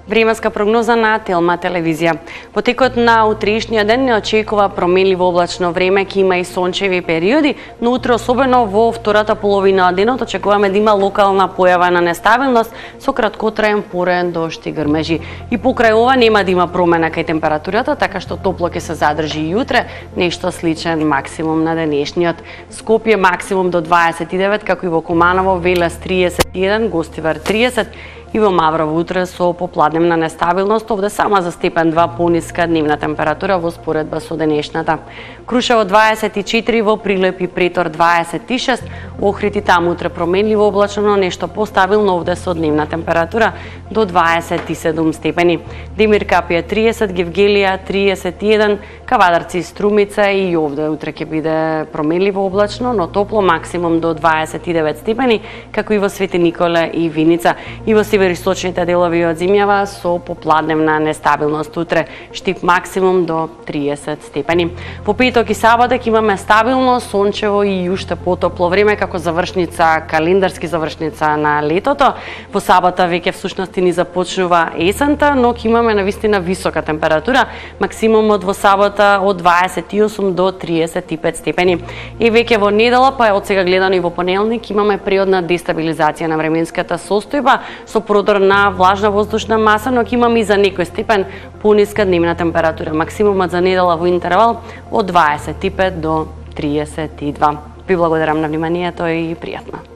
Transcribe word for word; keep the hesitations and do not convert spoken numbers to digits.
Временска прогноза на Телма телевизија. Во текот на утрешниот ден не очекува променливо облачно време, ќе има и сончеви периоди, но утре особено во втората половина од денот очекуваме да има локална појава на нестабилност со краткотраен порен дожд и грмежи. И покрај ова нема да има промена кај температурата, така што топло ќе се задржи и утре, нешто сличен максимум на денешниот. Скопје максимум до дваесет и девет, како и во Куманово, Велес триесет и еден, Гостивар триесет, и во Маврово утре со попладневна нестабилност, овде само за степен два пониска дневна температура во споредба со денешната. Крушево дваесет и четири, во Прилеп и Претор дваесет и шест, Охрид и таму утре променливо облачно, но нешто постабилно овде со дневна температура до дваесет и седум степени. Демир Капија триесет, Гевгелија триесет и еден, Кавадарци и Струмица и овде утре ќе биде променливо облачно, но топло, максимум до дваесет и девет степени, како и во Свети Николе и Виница. И во североисточните делови од земјава со попладневна нестабилност утре, Штип максимум до триесет степени. Во петок и саботак имаме стабилно, сончево и уште потопло време како завршница, календарски завршница на летото. Во сабота веќе всушност ни започнува есента, но ќе имаме навистина висока температура, максимумот во сабота од дваесет и осум до триесет и пет степени. И веќе во недела, па од сега гледано и во понеделник, имаме периодна дестабилизација на временската состојба со продор на влажна воздушна маса, но ќе имаме и за некој степен пониска дневна температура. Максимумот за недела во интервал од дваесет и пет до триесет и два. Ви благодарам на вниманието и пријатно.